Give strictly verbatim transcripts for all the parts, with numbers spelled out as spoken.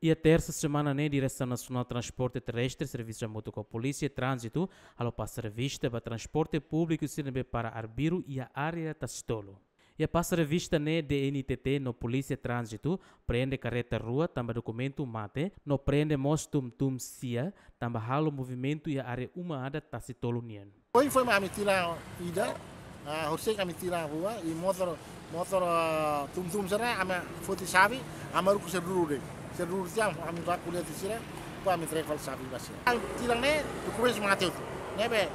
Iha tersa semana ne'e, Diresaun Nasionál Transporte Terrestre servisu hamutuk ho Polísia Tránzitu halo pasa revista ba transporte públiku sira ne'ebé para arbiru iha área Tasi Tolu. Iha pasa revista ne'e, D N T T no Polísia Tránzitu prende karreta rua tanba dokumentu mate, no prende mós tum-tum sia tanba halo movimentu iha área uma adat Tasi Tolu nian. Ohin foin mak ami tilang ida, ah, horisehik ami tilang rua, i motór, motór, ah, tum-tum sira ami foti xave, ami haruka sira duru de'it. Sira duru tiha, ami bá ko'alia ho sira, depois ami entrega fali xave ba sira. Ami tilang ne'e, dokumentu mate hotu. Ne'ebé,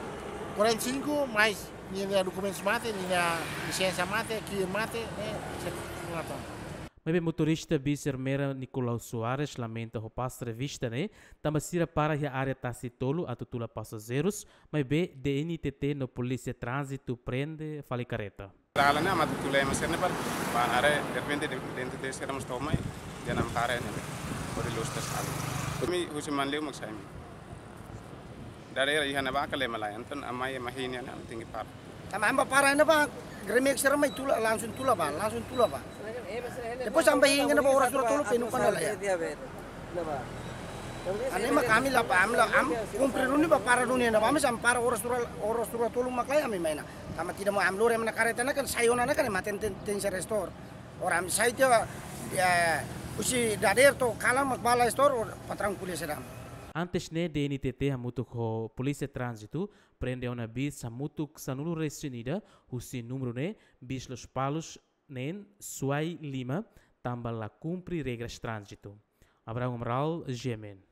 quarenta e cinco, mais ninia dokumentu mate, ninia lisensa mate, ki'ik mate, ne'e, sira mate. Maibé motorista bis Ermera Nicolau Soares lamenta ho pasa revista ne'e, tanba sira para iha área Tasi Tolu atu tula pasajeirus, maibé D N T T no Polísia Tránzitu prende fali karreta. Dalan ne'e ami atu tula ema sira ne'e para, para haree, derrepente D N T T sira mós to'o mai, dehan ami para ne'e, hodi loos tes kali. Ami husi Manleu mak sai mai. Dadeer iha ne'ebá ka lema lai, entaun ami mai ema hini ne'e ami tenke para. Tanba ami bá para ne'ebá, Gremix sira mai tula, langsung tula bá, langsung tula bá. Depois ami bá hini ne'ebá oras rua tolu penuh kana la iha. Ne'e mak ami la bá, ami la, ami kumpre duni bá para duni ne'ebá, ami sampai para oras rua, oras rua tolu mak la iha ami mai ona. Tanba tidak mau ami lori ami-nia karreta ne'e kan sai ona ne'e kan ema ten, ten, tenke restore. Ora ami sai tiha, eh, husi dadeer to'o kalan mak bá la restore, ora patraun ko'alia sira. Antes ne'e, D N T T hamutuk ho Polísia Tránzitu prende ona bis hamutuk sanulu-resin-ida husi númeru ne'e, bis Lospalos neen suai lima, tanba la kumpre regras tránzitu. Abraham Amaral, G M N.